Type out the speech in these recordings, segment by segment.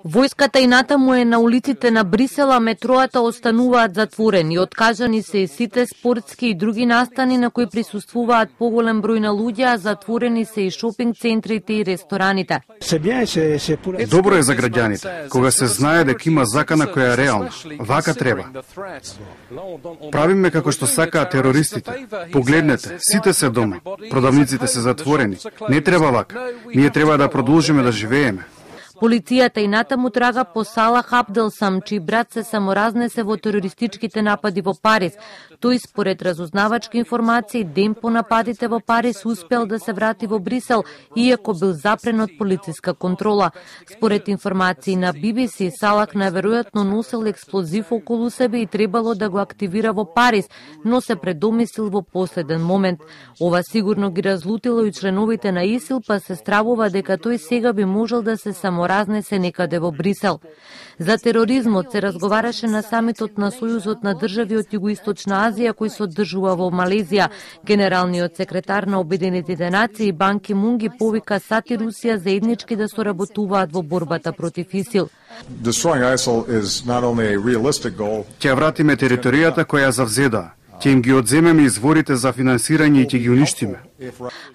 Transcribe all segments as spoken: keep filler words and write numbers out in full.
Војската и натаму е на улиците на Брисел, а метроата остануваат затворени. Откажани се и сите спортски и други настани на кои присуствуваат поголем број на луѓе, а затворени се и шопинг центрите и рестораните. Добро е за граѓаните, кога се знае дека има закана која е реална. Вака треба. Правиме како што сакаат терористите. Погледнете, сите се дома. Продавниците се затворени. Не треба вака. Ние треба да продолжиме да живееме. Полицијата и натаму трага по Салах Абделсам, чиј брат се саморазнесе во терористичките напади во Париз. Тој, според разузнавачки информации, ден по нападите во Париз успел да се врати во Брисел, иако бил запрен од полициска контрола. Според информации на Би Би Си, Салах наверојатно носел експлозив околу себе и требало да го активира во Париз, но се предомислил во последен момент. Ова сигурно ги разлутило и членовите на ИСИЛ, па се стравува дека тој сега би можел да се само разнесе некаде во Брисел. За тероризмот се разговараше на самитот на Сојузот на држави од Југоисточна Азија кој се одржува во Малезија. Генералниот секретар на Обединетите нации Бан Ки Мун ги повика САД и Русија заеднички да соработуваат во борбата против ИСИЛ. Ќе вратиме територијата која завзеда. Ќе им ги одземеме изворите за финансирање и ќе ги уништиме.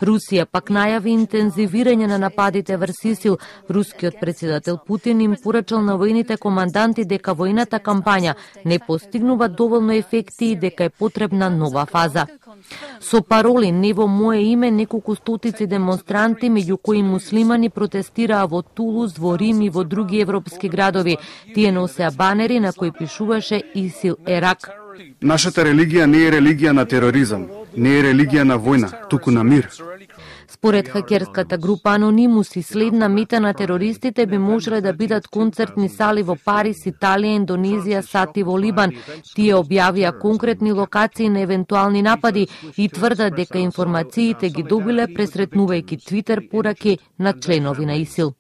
Русија пак најави интензивирање на нападите врз ИСИЛ. Рускиот председател Путин им порачал на војните команданти дека војната кампања не постигнува доволно ефекти и дека е потребна нова фаза. Со пароли "Не во мое име" неколку стотици демонстранти, меѓу кои муслимани, протестираа во Тулуз, во Рим и во други европски градови. Тие носеа банери на кои пишуваше "ИСИЛ е рак". Нашата религија не е религија на тероризам, не е религија на војна, туку на мир. Според хакерската група Анонимус и следна мета на терористите би можеле да бидат концертни сали во Париз, Италија, Индонезија, САД и во Либан. Тие објавија конкретни локации на евентуални напади и тврдат дека информациите ги добиле пресретнувајќи Твитер пораки на членови на ИСИЛ.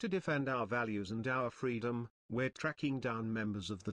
To defend our values and our freedom, we're tracking down members of the